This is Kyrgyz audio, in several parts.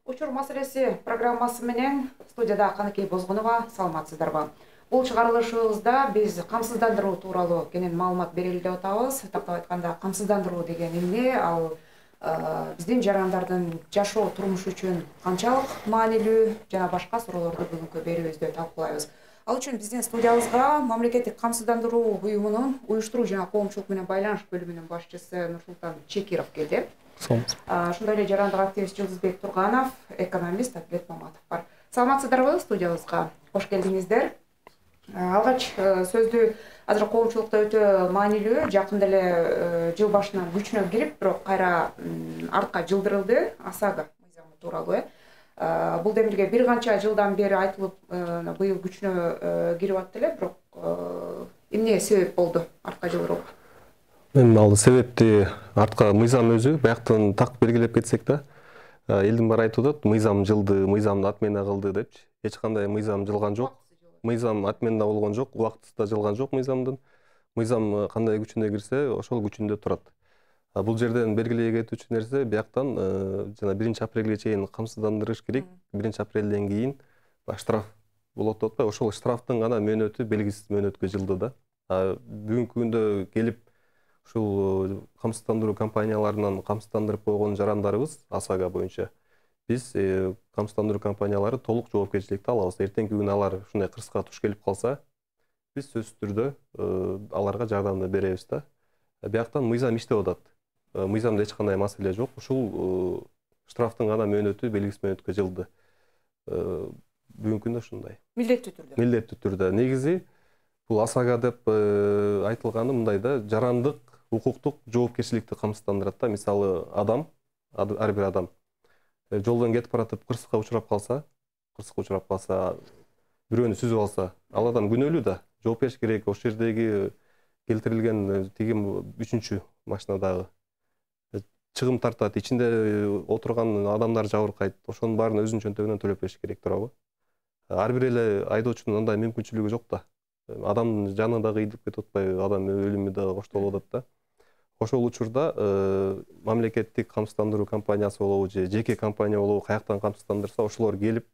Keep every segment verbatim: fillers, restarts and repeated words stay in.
Учур маселеси программасы менен студияда Каныкей Бозгунова, саламатсыздарбы? Бул чыгарылышыбызда биз камсыздандыруу тууралуу кенен маалымат берели деп атабыз. Тактап айтканда, камсыздандыруу деген эмне? Ал биздин жарандардын жашоо турмушу үчүн канчалык маанилүү жана башка суроолорду бүгүнкү берүүбүздө талкуулайбыз. Ал үчүн биздин студиябызга мамлекеттик камсыздандыруу уюмунун уюштуруу жана коомчулук менен байланыш бөлүмүнүн башчысы Нурсултан Чекиров келди. Ошондой эле жарандык активист Жылдызбек Турганов, экономист Атлет Маматов бар. Саламатсыздарбы? Студиябызга кош келдиңиздер. Алгач сөздү азыр коомчулукта өтө маанилүү, жакында эле жыл башынан күчүнө кирип, бирок кайра артка жылдырылды ОСАГО мыйзамы тууралуу. Бул демилге бир канча жылдан бери айтылып, быйыл күчүнө кирип атты эле, бирок эмне себеп болду артка жылдырууга? Мен ал себепти артка мыйзам өзү бияктан так белгилеп кетсек да, элдин баары айтып атат, мыйзам жылды, мыйзамды отмена кылды депчи. Эч кандай мыйзам жылган жок. Мыйзам отмена болгон жок, убактысында жылган жок мыйзамдын. Мыйзам кандай күчүнө кирсе, ошол күчүндө турат. Бул жерден белгилей кетүүчү нерсе, бияктан жана биринчи апрелге чейин камсыздандырыш керек. биринчи апрелден кийин штраф болот деп атпайбы? Ошол штрафтын гана мөөнөтү белгисиз мөөнөткө жылды да. Бүгүнкү күндө келип ушул камсыздандыруу компанияларынан камсыздандырып койгон жарандарыбыз ОСАГО боюнча биз камсыздандыруу компаниялары толук жоопкерчиликти алабыз. Эртеңки күнү алар ушундай кырсыкка туш келип калса, биз сөзсүз түрдө аларга жардамды беребиз да. Бияктан мыйзам иштеп атат. Мыйзамда эч кандай маселе жок. Ушул штрафтын гана мөөнөтү белгисиз мөөнөткө жылды. Бүгүнкү күндө ушундай. Милдеттүү түрдө. Милдеттүү түрдө. Негизи бул ОСАГО деп айтылганы мындай да, жарандык укуктук жоопкерчиликти камсыздандырат да. Мисалы, адам, ар бир адам жолдон кетип баратып кырсыкка учурап калса, кырсыкка учурап калса, бирөөнү сүзүп алса, ал адам күнөөлүү да. Жооп бериш керек. Ошол жердеги келтирилген тигим үчүнчү машинадагы чыгым тартат, ичинде отурган адамдар жабыркайт. Ошонун баарын өзүнүн чөнтөгүнөн төлөп бериш керек туурабы? Ар бир эле айдоочунун андай мүмкүнчүлүгү жок да. Адам жаны дагы ийдип кетип атпайбы, адам өлүмү дагы коштолуп атат да. Ошол учурда мамлекеттик камсыздандыруу компаниясы болобу же жеке компания болобу каяктан камсыздандырса, ошолор келип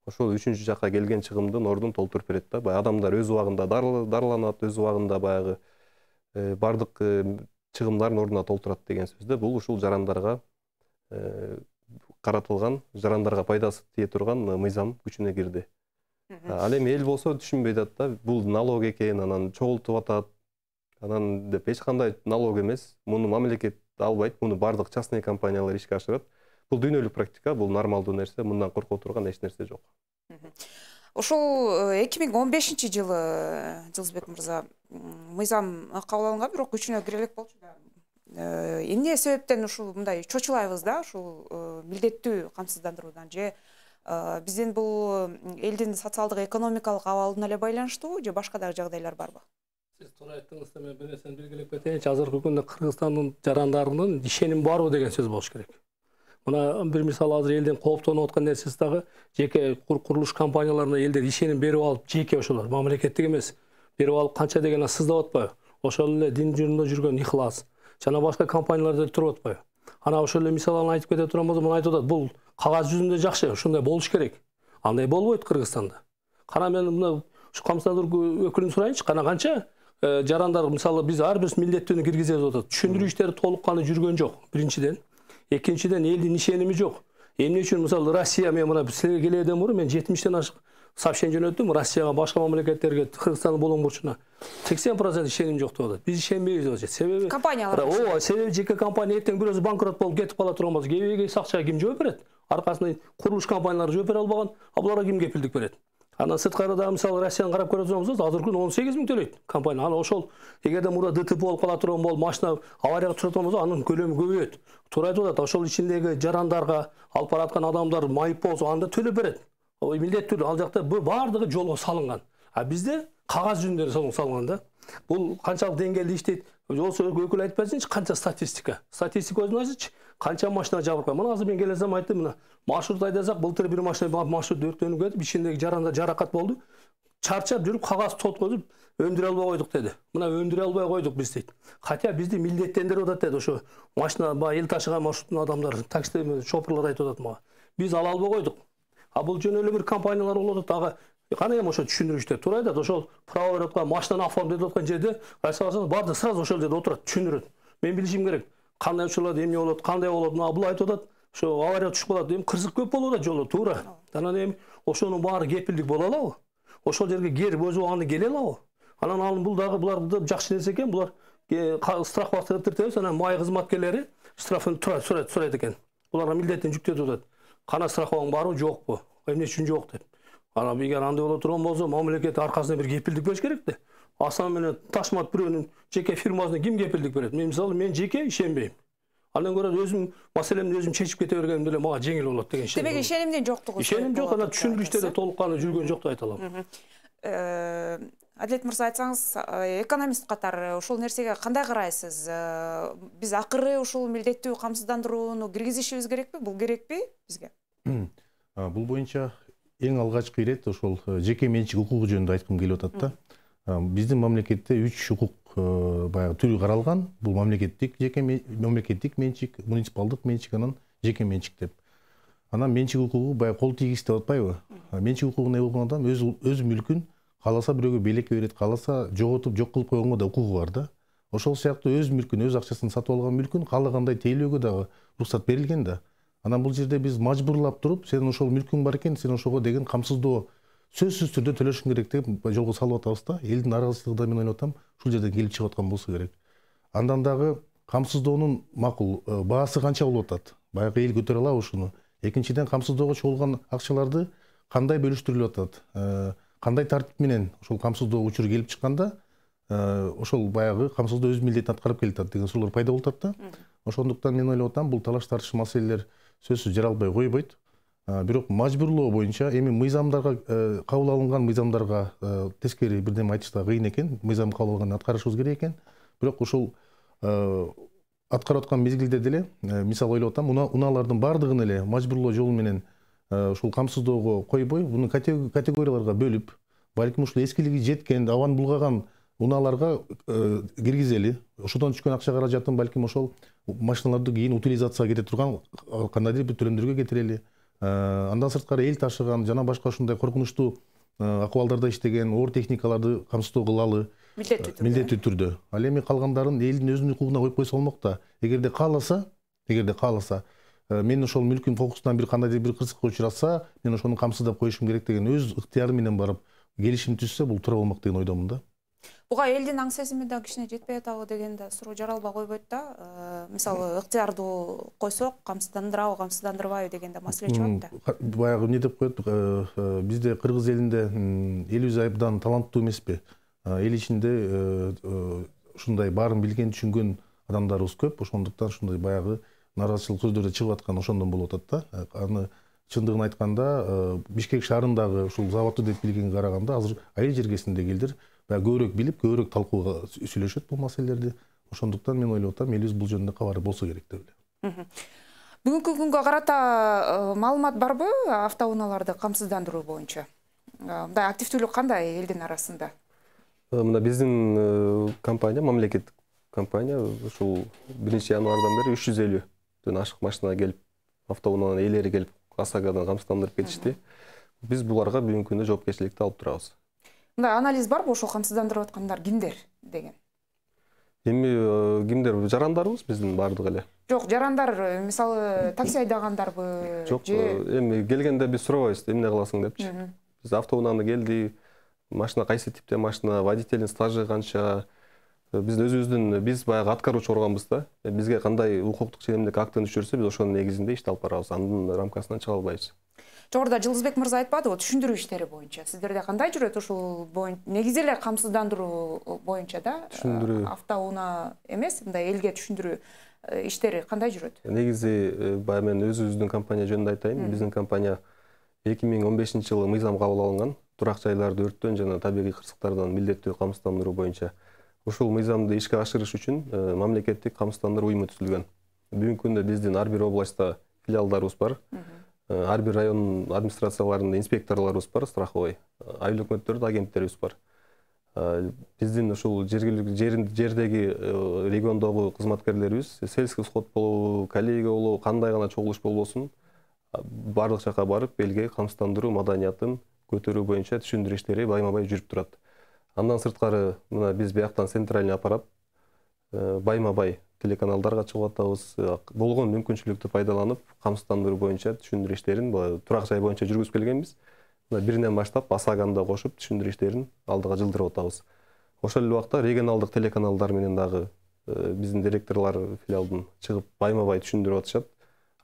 ошол үчүнчү жакка келген чыгымдын ордун толтуруп берет да. Баягы адамдар өз убагында дарыланат, өз убагында баягы бардык чыгымдарын ордуна толтурат деген сөз да. Бул ушул жарандарга каратылган, жарандарга пайдасы тие турган мыйзам күчүнө кирди. Ал эми эл болсо түшүнбөй атат да, бул налог экен, анан чогултуп атат. Анан деп эч кандай налог эмес. Муну мамлекет албайт, муну бардык частный компаниялар ишке ашырат. Бул дүйнөлүк практика, бул нормалдуу нерсе, мындан корко турган эч нерсе жок. Ошол эки миң он бешинчи жылы Жылдызбек мырза мыйзам кабыл алынган, бирок күчүнө кире элек болчу да. Эмне себептен ушул мындай чочулайбыз да, ушул милдеттүү камсыздандыруудан же биздин бул элдин социалдык экономикалык абалына эле байланыштуу же башка дагы жагдайлар барбы? Сиз туура айттыңыз да, мен бир нерсени белгилеп кетейинчи. Азыркы күндө Кыргызстандын жарандарынын ишеним барбы деген сөз болуш керек. Мына бир мисал, азыр элдин кооптонуп аткан нерсеси дагы жеке курулуш компанияларына элдер ишеним берип алып, жеке ошолор мамлекеттик эмес берип алып канча деген сыздап атпайбы? Ошол эле дин жөнүндө жүргөн Ихлас жана башка компанияларда туруп атпайбы? Ана ошол эле мисалын айтып кете турган болсом, мына айтып атат, бул кагаз жүзүндө жакшы, ушундай болуш керек. Андай болбойт Кыргызстанда. Кана мен мына ушу камсыздандыруу өкүлүн сурайынчы, кана канча жарандар, мисалы, биз ар бир милдеттүүнү киргизебиз атат. Түшүндүрүү иштери толук каны жүргөн жок. Биринчиден, экинчиден элдин ишеними жок. Эмне үчүн, мисалы, Россия, мен мына силерге келүүдөн мурун мен жетимиштен ашык сообщение жөнөттүм Россияга, башка мамлекеттерге, Кыргызстандын болгон бурчуна. сексен процент ишеним жок деп атат. Биз ишенбейбиз деп атат. Себеби компаниялар. Ооба, себеби жеке компания эртең бирөөсү банкрот болуп кетип кала турган болсо, кебеге акчага ким жооп берет? Аркасында курулуш компаниялары жооп бере албаган, а буларга ким кепилдик берет? Анан сырткары дагы, мисалы, Россияны карап көрө турган болсоңуз, азыркы күндө он сегиз миң төлөйт компания. Ана ошол эгерде мурда ДТП болуп кала турган болуп, машина аварияга түшүп турган болсо, анын көлөмү көбөйөт. Туура айтып атат, ошол ичиндеги жарандарга алып бараткан адамдар майып болсо, анда төлөп берет. Милдеттүү, ал жакта бардыгы жолго салынган. А бизде кагаз жүзүндө салынган да. Бул канчалык деңгээлде иштейт? Болсо өкүл айтып берсинчи, канча статистика? Статистика өзүн айтсычы, канча машина жабыркай. Мына азыр мен келесем айттым, мына маршрут айдасак, былтыр бир машина маршрут өрттөнүп кетип, ичиндеги жаранда жаракат болду. Чарчап жүрүп, кагаз тоткозуп, өндүрө албай койдук деди. Мына өндүрө албай койдук биз дейт. Хотя бизди милдеттендирип атат деди ошо машина, эл ташыган маршруттун адамдары, такси шопурлар айтып атат мага. биз ала албай койдук. А бул жөн эле бир компаниялар болот, ага кана эми ошо түшүндүрүштө туурайт да, ошол право берип аткан машинаны оформдойт аткан жерде Россия баардыгы сразу ошол жерде отурат, түшүндүрөт. Мен билишим керек. Кандай учурлар эмне болот, кандай болот, мына бул айтып атат. Ошо авария түшүп калат, эми кырсык көп болуп атат жолдо, туура. Анан эми ошонун баары кепилдик боло алабы? Ошол жерге кер өз убагында келе алабы? Анан ал бул дагы булар жакшы нерсе экен, булар страховка тиртебиз, анан май кызматкерлери штрафын сурайт сурайт экен. Буларга милдеттин жүктөтүп атат. Кана страховкаң барбы, жокпу? Эмне үчүн жок деп. Анан эгер андай боло турган болсо, мамлекет аркасында бир кепилдик бериш керек да. Асан менен Ташмат бирөөнүн жеке фирмасына ким кепилдик берет? Мен мисалы мен жеке ишенбейм. Андан көрө өзүм маселемди өзүм чечип кете бергеним деле мага жеңил болот деген ишеним. Демек ишенимдин жоктугу. Ишеним жок, анан түшүндүрүштөрдө толук кана жүргөн жок деп айта алам. Адилет мырза, айтсаңыз, экономист катары ушул нерсеге кандай карайсыз? Биз акыры ушул милдеттүү камсыздандырууну киргизишибиз керекпи? Бул керекпи бизге? Бул боюнча эң алгачкы ирет ошол жеке менчик укугу жөнүндө айткым келип атат да. Биздин мамлекетте үч укук баягы түрү каралган. Бул мамлекеттик, жеке мамлекеттик менчик, муниципалдык менчик, анан жеке менчик деп. Анан менчик укугу баягы кол тийгиз деп атпайбы? Менчик укугу эмне болгон адам өз өз мүлкүн кааласа бирөөгө белекке берет, кааласа жоготуп жок кылып койгонго да укугу бар да. Ошол сыяктуу өз мүлкүн, өз акчасын сатып алган мүлкүн каалагандай тейлөөгө дагы уруксат берилген да. Анан бул жерде биз мажбурлап туруп, сен ошол мүлкүң бар экен, сен ошого деген камсыздоо сөзсүз түрдө төлөшүң керек деп жолго салып атабыз да. Элдин наразычылыгы да мен ойлоп атам, ушул жерден келип чыгып аткан болсо керек. Андан дагы камсыздоонун макул баасы канча болуп атат? Баягы эл көтөрө алабы ушуну? Экинчиден, камсыздоого чогулган акчаларды кандай бөлүштүрүлүп атат? Кандай тартип менен ошол камсыздоо учуру келип чыкканда, ошол баягы камсыздоо өз милдетин аткарып келатат деген суроолор пайда болуп атат да. Ошондуктан мен ойлоп атам, бул талаш тартыш маселелер сөзсүз жаралбай койбойт. Бирок мажбурлоо боюнча эми мыйзамдарга кабыл алынган мыйзамдарга тескери бирдеме айтыш да кыйын экен. Мыйзам кабыл алганды аткарышыбыз керек экен. Бирок ушул аткарып аткан мезгилде деле, мисалы ойлоп атам, унаалардын баардыгын эле мажбурлоо жолу менен ушул камсыздоого койбой, буну категорияларга бөлүп, балким ушул эскилиги жеткен, абаны булгаган унааларга киргизели. Ошодон түшкөн акча каражатын балким ошол машиналарды кийин утилизацияга кете турган кандайдыр бир төлөмдөргө кетирели. Андан сырткары эл ташыган жана башка ушундай коркунучтуу акыбалдарда иштеген оор техникаларды камсыздоо кылалы милдеттүү түрдө. Ал эми калгандарын элдин өзүнүн укугуна коюп койсо болмок да. Эгерде кааласа, эгерде кааласа, мен ошол мүлкүм кокусунан бир кандайдыр бир кырсыкка учураса, мен ошону камсыздап коюшум керек деген өз ыктыяры менен барып келишим түзсө, бул туура болмок деген ойдомун да. Буга элдин аң сезими да кичине жетпей атабы деген да суроо жаралбай койбойт да. Мисалы, ыктыярдуу койсок, камсыздандырабы, камсыздандырбайбы деген да маселе чыгат да. Баягы эмне деп коет, бизде кыргыз элинде элибиз абдан таланттуу эмеспи? Эл ичинде ушундай баарын билген, түшүнгөн адамдарыбыз көп. Ошондуктан ушундай баягы наразычылык сөздөр да чыгып аткан ошондон болуп атат да. Аны чындыгын айтканда, Бишкек шаарындагы ушул заводду деп билгенге караганда азыр айыл жергесиндегилер көбүрөөк билип, көбүрөөк талкууга сүйлөшөт бул маселелерди. Ошондуктан мен ойлоп атам, элибиз бул жөнүндө кабары болсо керек деп элем. Бүгүнкү күнгө карата маалымат барбы автоунааларды камсыздандыруу боюнча? Мындай активдүүлүк кандай элдин арасында? Мына биздин компания, мамлекеттик компания, ушул биринчи январдан бери үч жүз элүүдөн ашык машина келип, автоунаанын ээлери келип, ОСАГОдан камсыздандырып кетишти. Биз буларга бүгүнкү күндө жоопкерчиликти алып турабыз. Мындай анализ барбы, ошол камсыздандырып аткандар кимдер деген? Эми кимдер? Жарандарбыз биздин баардык эле. Жок, жарандар, мисалы, такси айдагандарбы? Жок, эми келгенде биз сурабайбыз, эмне кыласың депчи. Биз автоунааны келди, машина кайсы типте машина, водителдин стажы канча, биз өзүбүздүн биз баягы аткаруучу органбыз да. Бизге кандай укуктук ченемдик актын түшүрсө, биз ошонун негизинде ишти алып барабыз. Анын рамкасынан чыга албайбыз. Жогоруда Жылдызбек мырза айтпадыбы, түшүндүрүү иштери боюнча сиздерде кандай жүрөт ушул боюнча? Негизи эле камсыздандыруу боюнча да? Түшүндүрүү. Автоунаа эмес, мындай элге түшүндүрүү иштери кандай жүрөт? Негизи баягы мен өзүбүздүн компания жөнүндө айтайын. Биздин компания эки миң он бешинчи жылы мыйзам кабыл алынган. Турак жайларды өрттөн жана табигый кырсыктардан милдеттүү камсыздандыруу боюнча. Ушул мыйзамды ишке ашырыш үчүн мамлекеттик камсыздандыруу уюму түзүлгөн. Бүгүнкү күндө биздин ар бир областта филиалдарыбыз бар. Ар бир район администрацияларында инспекторлорубуз бар, страховой. Айыл өкмөттөрдө агенттерибиз бар. Биздин ушул жердеги региондогу кызматкерлерибиз сельский сход болобу, коллега болобу, кандай гана чогулуш болбосун, барлык жака барып элге камсыздандыруу маданиятын көтөрүү боюнча түшүндүрүү иштери байма-бай жүрүп турат. Андан сырткары мына биз бияктан центральный аппарат байма-бай телеканалдарга чыгып атабыз. Болгон мүмкүнчүлүктү пайдаланып, камсыздандыруу боюнча түшүндүрүү иштерин турак жай боюнча жүргүзүп келгенбиз. Биринен баштап Асаганда кошуп түшүндүрүү иштерин алдыга жылдырып атабыз. Ошол эле убакта регионалдык телеканалдар менен дагы биздин директорлор филиалдын чыгып байма-бай түшүндүрүп атышат.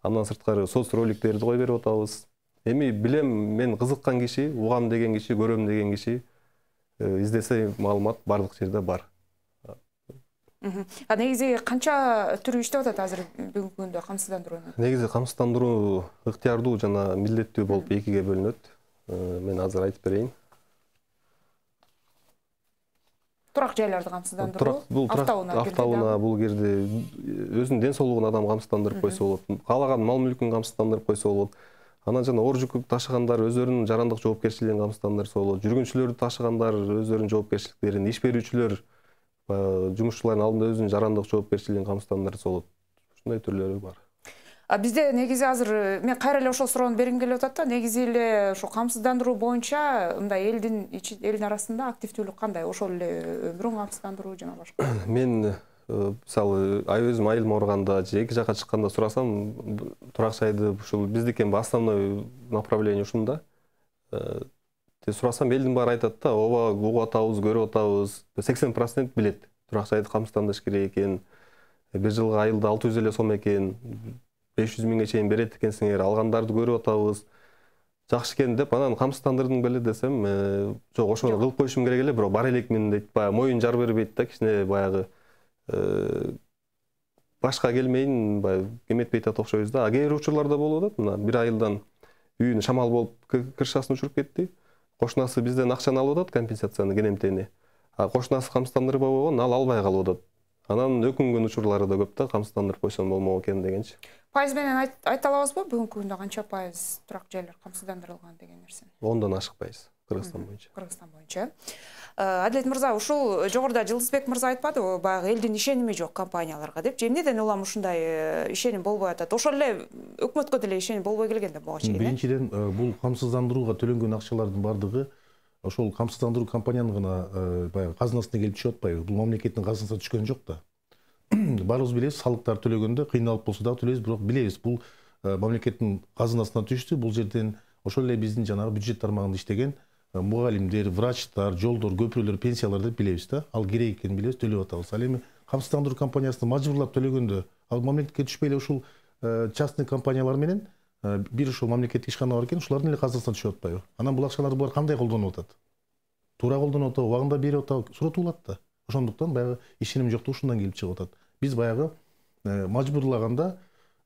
Андан сырткары соц роликтерди кой берип атабыз. Эми билем, мен кызыккан киши, угам деген киши, көрөм деген киши издесе маалымат барлык жерде бар. А негизи канча түрү иштеп атат азыр бүгүнкү күндө камсыздандырууну? Негизи камсыздандыруу ыктыярдуу жана милдеттүү болуп экиге бөлүнөт. Мен азыр айтып берейин. Турак жайларды камсыздандыруу, автоунаа бул жерде өзүнүн ден соолугун адам камсыздандырып койсо болот. Каалаган мал мүлкүн камсыздандырып койсо болот. Анан жана оор жүк ташыгандар өздөрүнүн жарандык жоопкерчилигин камсыздандырса болот. Жүргүнчүлөрдү ташыгандар өздөрүнүн жоопкерчиликтерин, иш берүүчүлөр жумушчулардын алдында өзүнүн жарандык жоопкерчилигин камсыздандырса болот. Ушундай түрлөрү бар. А бизде негизи азыр мен кайра эле ошол суроону бергим келип атат да, негизи эле ошо камсыздандыруу боюнча мындай элдин элдин арасында активдүүлүк кандай? Ошол эле өмүрүн камсыздандыруу жана башка. Мен мисалы өзүм айылым ооруганда же эки жака чыкканда сурасам, турак жайды ушул биздикин основной направление ушунда. Те сурасам элдин баары айтат да, ооба угуп атабыз, көрүп атабыз. сексен процент билет. Турак жайды камсыздандырыш керек экен. Бир жылга айылда алты жүз эле сом экен. беш жүз миңге чейин берет экенсиңер, алгандарды көрүп атабыз. Жакшы экен деп, анан камсыздандырдың беле десем, жок, ошону кылып коюшум керек эле, бирок бар элекмин дейт. Баягы моюн жар бербейт да, кичине баягы башка келмейин, баягы эметпей атат окшойбуз да. А кээ бир учурларда болуп атат, мына бир айылдан үйүнө шамал болуп крышасын учуруп кетти. Кошунасы бизден акчаны алып атат, компенсацияны, кенемтени. А кошунасы камсыздандырбай койгон, ал албай калып атат. Анан өкүнгөн учурлары да көп да, камсыздандырып койсом болмок экен дегенчи. Пайыз менен айта алабызбы бүгүнкү күндө канча пайыз турак жайлар камсыздандырылган деген нерсени? Ондан ашык пайыз Кыргызстан боюнча. Кыргызстан боюнча. Адилет мырза, ушул жогоруда Жылдызбек мырза айтпадыбы, баягы элдин ишеними жок компанияларга деп. Эмнеден улам ушундай ишеним болбой атат? Ошол эле өкмөткө деле ишеним болбой келген да буга чейин. Биринчиден, бул камсыздандырууга төлөнгөн акчалардын бардыгы ошол камсыздандыруу компаниянын гана баягы казынасына келип түшүп атпайбы? Бул мамлекеттин казынасына түшкөн жок да. Баарыбыз билебиз, салыктар төлөгөндө кыйналып болсо дагы төлөйбүз, бирок билебиз, бул мамлекеттин казынасына түштү. Бул жерден ошол эле биздин жанагы бюджет тармагында иштеген мугалимдер, врачтар, жолдор, көпүрөлөр, пенсиялар деп билебиз да. Ал керек экенин билебиз, төлөп атабыз. Ал эми камсыздандыруу компаниясына мажбурлап төлөгөндө, ал мамлекетке түшпөй эле ушул частный компаниялар менен бир ушул мамлекеттик ишкана бар экен, ушулардын эле казынасына түшүп атпайбы? Анан бул акчаларды булар кандай колдонуп атат? Туура колдонуп атабы, убагында берип атабы? Суротулат да. Ошондуктан баягы ишеним жоктугу ушундан келип чыгып атат. Биз баягы мажбурлаганда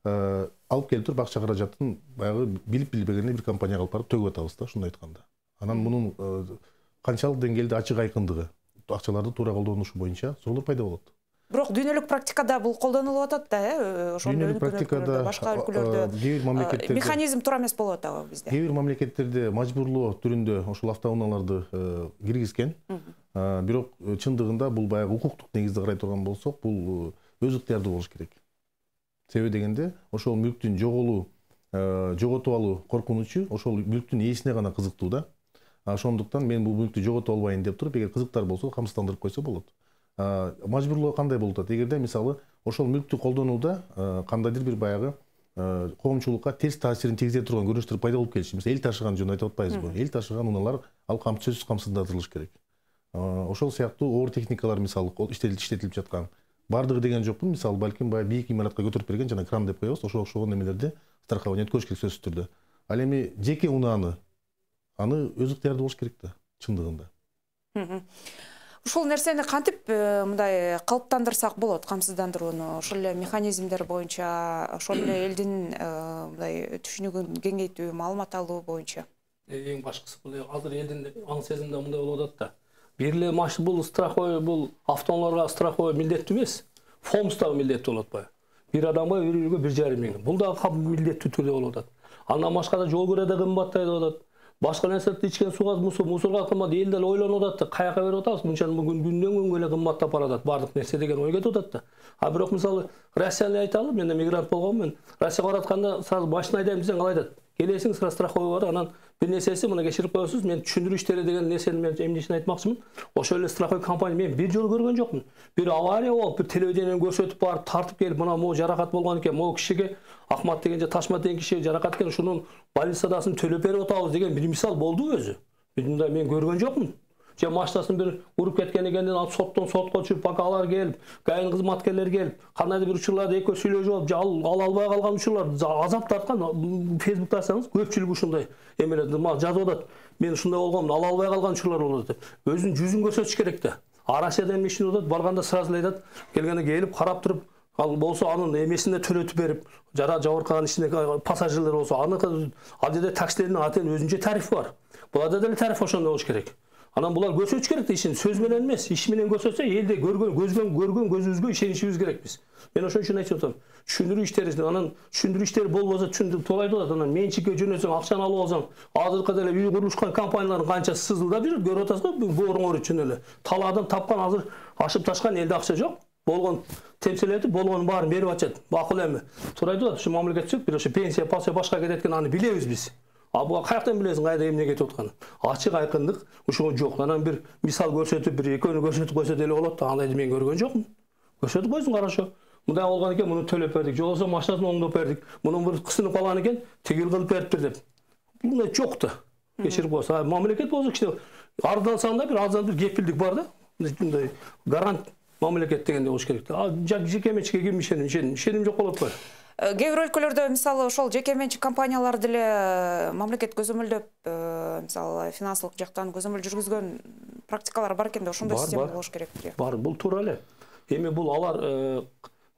алып келип туруп акча каражатын баягы билип билбегенде бир компанияга алып барып төгүп атабыз да, ушундай айтканда. Анан мунун канчалык деңгээлде ачык айкындыгы, акчаларды туура колдонушу боюнча соолор пайда болот. Бирок дүйнөлүк практикада бул колдонулуп атат да, э? Дүйнөлүк практикада башка өлкөлөрдө кээ бир мамлекеттерде механизм туура эмес болуп атабы бизде? Кээ бир мамлекеттерде мажбурлоо түрүндө ошол автоунааларды киргизген. Бирок чындыгында бул баягы укуктук негизде карай турган болсок, бул өз ыктыярдуу болуш керек. Себеби дегенде, ошол мүлктүн жоголуу, жоготуп алуу коркунучу ошол мүлктүн ээсине гана кызыктуу да. Ошондуктан мен бул мүлктү жоготуп албайын деп туруп, эгер кызыктар болсо, камсыздандырып койсо болот. Мажбурлоо кандай болуп атат? Эгерде мисалы ошол мүлктү колдонууда кандайдыр бир баягы коомчулукка терс таасирин тийгизе турган көрүнүштөр пайда болуп келиши. Мисалы эл ташыган жөнүндө айтып атпайбызбы? Эл ташыган унаалар ал камсыз камсыздандырылыш керек. Ошол сыяктуу оор техникалар мисалы иштетилип жаткан. Бардыгы деген жокпун, мисалы балким баягы бийик имаратка көтөрүп берген жана кран деп коебуз, ошого окшогон немелерди страхование өткөрүш керек сөзсүз түрдө. Ал эми жеке унааны аны өз ыктыярында болуш керек да, чындыгында. Ушул нерсени кантип мындай калыптандырсак болот, камсыздандырууну, ошол эле механизмдер боюнча, ошол эле элдин мындай түшүнүгүн кеңейтүү, маалымат алуу боюнча. Эң башкысы бул азыр элдин аң сезимде мындай болуп атат да. Бир эле машина бул страховой, бул автоунааларга страховой милдеттүү эмес. ФОМС дагы милдеттүү болот атпайбы? Бир адамга бир үйгө бир жарым миң. Бул дагы милдеттүү түрдө болуп атат. Андан башка да жол кирет да кымбаттайды деп атат. башка нерселерди ичкен сууга мусорга кымбат, эл деле ойлонуп атат да, каяка берип атабыз, мынча күндөн күнгө эле кымбаттап баратат баардык нерсе деген ой кетип атат да. А бирок мисалы Россияны айталы, мен да мигрант болгонмун, Россияга баратканда сразу башын айдайм десең калай айтат? Келесиң, сразу страховой бар, анан бир нерсеси мына кечирип коесуз, мен түшүндүрүү иштери деген нерсени мен эмнесин айтмакчымын. Ошол эле страховой компания мен бир жолу көргөн жокмун. Бир авария болуп, бир телевидениеден көрсөтүп барып, тартып келип, мына могу жаракат болгон экен, могу кишиге Ахмат деген же Ташмат деген кишиге жаракат экен, ушунун больницадасын төлөп берип атабыз деген бир мисал болду өзү. Мындай мен көргөн жокмун. Же машинасын бир уруп кеткен экенден алып соттон сотко чыгып, пока алар келип, ГАИнин кызматкерлери келип, кандайдыр бир учурларда экөө сүйлөшүп алып, ала албай калган учурлар азап тарткан. Фейсбукта алсаңыз, көпчүлүк ушундай эмелерди жазып атат. Мен ушундай болгомун, ала албай калган учурлар болот деп. Өзүнүн жүзүн көрсөтүш керек да. А Россияда эмне үчүн атат? Барганда сразу эле айтат, келгенде келип карап туруп, ал болсо анын эмесин да төлөтүп берип, жара жабыркаган ичинде пассажирлер болсо, аны ал жерде таксилердин атен өзүнчө тарифи бар. Буларда деле тариф ошондой болуш керек. Анан булар көрсөтүш керек да, ишин сөз менен эмес, иш менен көрсөтсө, элде көргөн, көзгөн, көргөн көзүбүзгө ишенишибиз керек биз. Мен ошон үчүн айтып атам. Түшүндүрүү иштери, анан түшүндүрүү иштери болбосо түшүндүрүп туура айтып атат. Анан менчикке жөнөсөң, акчаны алып алсаң, азыркы деле үй курулушкан компаниялардын канчасы сызылдап жүрөт, көрүп атасызбы? Бооруңор үчүн эле. Талаадан тапкан азыр ашып ташкан элде акча жок. Болгон темселетип, болгонун баарын берип атышат. Макул эми. Туура айтып атат. Ушу мамлекет сөк, бир ошо пенсия, пенсия башка кетет экен, аны билебиз биз. А буга каяктан билесиң кайда эмне кетип атканын? Ачык айкындык ушуга жок. Анан бир мисал көрсөтүп, бир экөөнү көрсөтүп койсо деле болот да. Андайды мен көргөн жокмун. Көрсөтүп койсун, карашо. Мындай болгон экен, муну төлөп бердик. Же болбосо машинасын оңдоп бердик. Мунун бир кысынып калган экен, тигил кылып бериптир деп. Мындай жок да. Кечирип койсо, мамлекет болсо кичине арзансаң да бир аздан бир кепилдик бар да. Мындай гарант мамлекет дегенде болуш керек да. А жеке менчикке ким ишеним, ишеним, ишеним жок болуп атпайбы? Кээ бир өлкөлөрдө мисалы ошол жеке менчик компаниялар деле мамлекет көзөмөлдөп, мисалы финансылык жактан көзөмөл жүргүзгөн практикалар бар экен да, ошондой система болуш керек. Бар, бул туура эле. Эми бул алар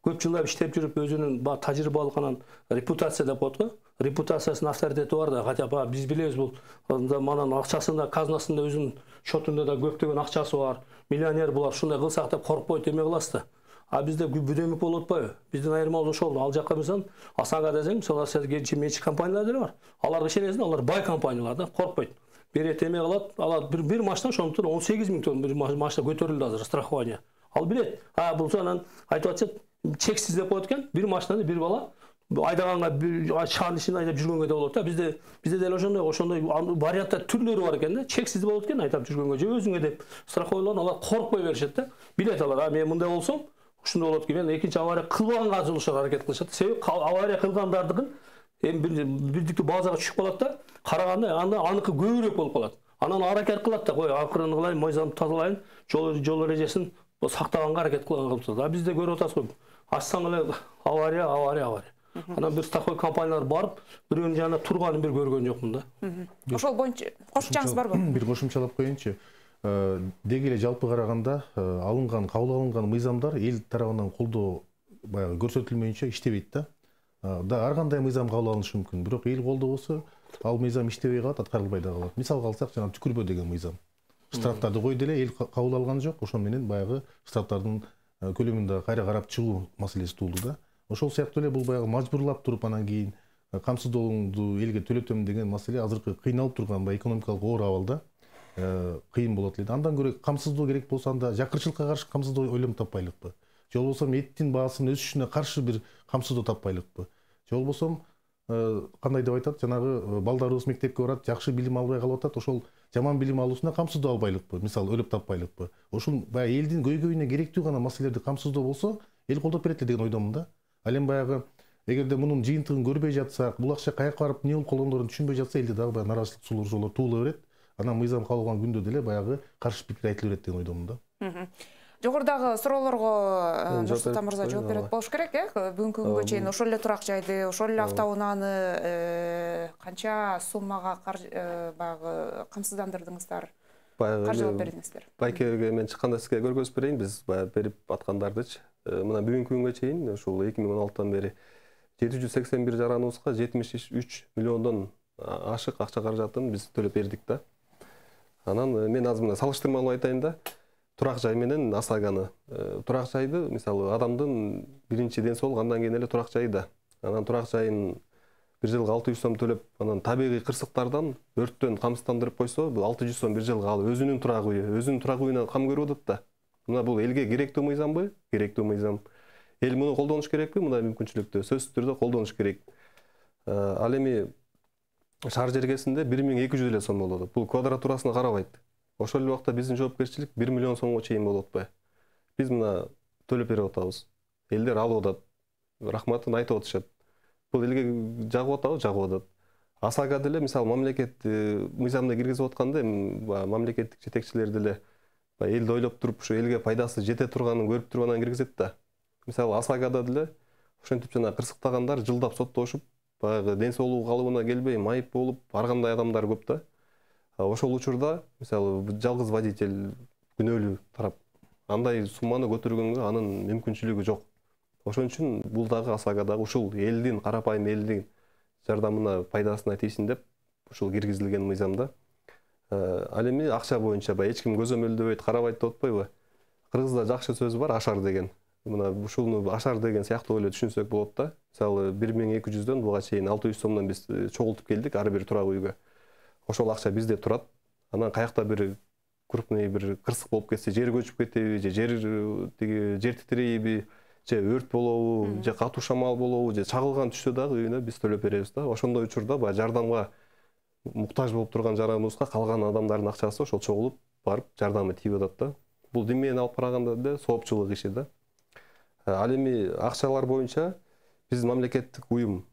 көп жылдап иштеп жүрүп өзүнүн тажрыйбалык анан репутация деп коет го. Репутациясынын авторитети бар да, хотя бы биз билебиз бул манан акчасында, казнасында өзүнүн счетунда да көптөгөн акчасы бар. Миллионер булар, ушундай кылсак деп коркпойт, эме кыласыз да. А бизде бүдөмүк болуп атпайбы? Биздин айырмалыгыбыз ошол. Ал жакка мисалы Асанга десең, мисалы Россияда менчик компаниялар деле бар. Аларга ишенесиң, алар бай компаниялар да, коркпойт. Берет эме кылат, алар бир бир машина ошондуктан он сегиз миң тонн бир машина көтөрүлдү азыр страхование. Ал билет. А булса анан айтып атышат, чексиз деп коет экен, бир машинаны бир бала айдаганга шаардын ичинде айдап жүргөнгө да болот да. Бизде бизде деле ошондой, ошондой варианттар түрлөрү бар экен да. Чексиз болот экен айдап жүргөнгө, же өзүңө деп страховойлорун алар коркпой беришет да. Билет алар, а мен мындай болсом ушундай болот экен, экинчи авария кылбаганга жылышар аракет кылышат. Себеби авария кылгандардыкын эми бирдиктүү базага түшүп калат да, караганда анда аныкы көбүрөөк болуп калат. Анан аракет кылат да, кой акырын кылайын, мыйзамды тазалайын, жол жол эрежесин сактаганга аракет кылат. А бизде көрүп атасызбы? Ачсаң эле авария, авария, авария. Анан бир страховой компаниялар барып, бирөөнүн жанында турганын бир көргөн жокмун да. Ошол боюнча кошумчаңыз барбы? Бир кошумчалап коеюнчу. Деги эле жалпы караганда алынган, кабыл алынган мыйзамдар эл тарабынан колдоо баягы көрсөтүлмөйүнчө иштебейт да. Да ар кандай мыйзам кабыл алынышы мүмкүн, бирок эл колдобосо ал мыйзам иштебей калат, аткарылбай да калат. Мисалга алсак, жана түкүрбө деген мыйзам. Штрафтарды койду эле, эл кабыл алган жок, ошон менен баягы штрафтардын көлөмүн да кайра карап чыгуу маселеси туулду да. Ошол сыяктуу эле бул баягы мажбурлап туруп анан кийин камсыздооңду элге төлөтөм деген маселе азыркы кыйналып турган баягы экономикалык оор абалда кыйын болот эле. Андан көрө камсыздоо керек болсо анда жакырчылыкка каршы камсыздоо ойлонуп таппайлыкпы? Же болбосо эттин баасынын өсүшүнө каршы бир камсыздоо таппайлыкпы? Же болбосо кандай деп айтат, жанагы балдарыбыз мектепке барат, жакшы билим албай калып атат, ошол жаман билим алуусуна камсыздоо албайлыкпы? Мисалы өлүп таппайлыкпы? Ошол баягы элдин көйгөйүнө керектүү гана маселелерди камсыздоо болсо, эл колдоп берет деген ойдомун да. Ал эми баягы эгерде мунун жыйынтыгын көрбөй жатсак, бул акча каяка барып эмне болуп калгандыгын түшүнбөй жатса, элде дагы баягы нааразычылык сулуу туула берет. Анан мыйзам кабыл алган күндө деле баягы каршы пикир айтыла берет деген ойдомун да. Жогорудагы суроолорго Нурсултан мырза жооп берет болуш керек, э? Бүгүнкү күнгө чейин ошол эле турак жайды, ошол эле автоунааны канча суммага баягы камсыздандырдыңыздар? Каржылап бердиңиздер? Байкеге мен чыкканда сизге көргөзүп берейин, биз баягы берип аткандардычы. Мына бүгүнкү күнгө чейин ушул эки миң он алтыдан бери жети жүз сексен бир жараныбызга жетимиш үч миллиондон ашык акча каражатын биз төлөп бердик да. Анан мен азыр мына салыштырмалуу айтайын да. Турак жай менен ОСАГОны. Турак жайды мисалы адамдын биринчи ден соолугу, андан кийин эле турак жай да. Анан турак жайын бир жылга алты жүз сом төлөп, анан табигый кырсыктардан өрттөн камсыздандырып койсо, бул алты жүз сом бир жылга ал өзүнүн турак үйү, өзүнүн турак үйүнө кам көрүп атат да. Мына бул элге керектүү мыйзамбы? Керектүү мыйзам. Эл муну колдонуш керекпи? Мындай мүмкүнчүлүктү сөзсүз түрдө колдонуш керек. Ал эми шаар жергесинде бир миң эки жүз эле сом болуп атат. Бул квадратурасына карабайт. Ошол эле убакта биздин жоопкерчилик бир миллион сомго чейин болуп атпайбы? Биз мына төлөп берип атабыз. Элдер алып атат. Рахматын айтып атышат. Бул элге жагып атабы? Жагып атат. АСАГа деле мисалы мамлекет мыйзамды киргизип атканда мамлекеттик жетекчилер деле элди ойлоп туруп ушу элге пайдасы жете турганын көрүп туруп анан киргизет да. Мисалы АСАГада деле ошентип жана кырсыктагандар жылдап соттошуп, баягы ден соолугу калыбына келбей майып болуп, ар кандай адамдар көп да. Ошол учурда мисалы жалгыз водитель күнөөлүү тарап андай сумманы көтөргөнгө анын мүмкүнчүлүгү жок. Ошон үчүн бул дагы АСАГадагы ушул элдин, карапайым элдин жардамына, пайдасына тийсин деп ушул киргизилген мыйзамда. Ал эми акча боюнча баягы эч ким көзөмөлдөбөйт, карабайт деп атпайбы? Кыргызда жакшы сөз бар, ашар деген. Мына ушуну ашар деген сыяктуу эле түшүнсөк болот да. Мисалы бир миң эки жүздөн буга чейин алты жүз сомдон биз чогултуп келдик ар бир турак үйгө. Ошол акча бизде турат. Анан каякта бир крупный бир кырсык болуп кетсе, жер көчүп кетеби, же жер тиги жер титирейби, же өрт болобу, же катуу шамал болобу, же чагылган түшсө дагы үйүнө биз төлөп беребиз да. Ошондой учурда баягы жардамга муктаж болуп турган жараныбызга калган адамдардын акчасы ошол чогулуп барып жардамы тийип атат да. Бул дин менен алып караганда деле соопчулук иши да. Ал эми акчалар боюнча биз мамлекеттик уюм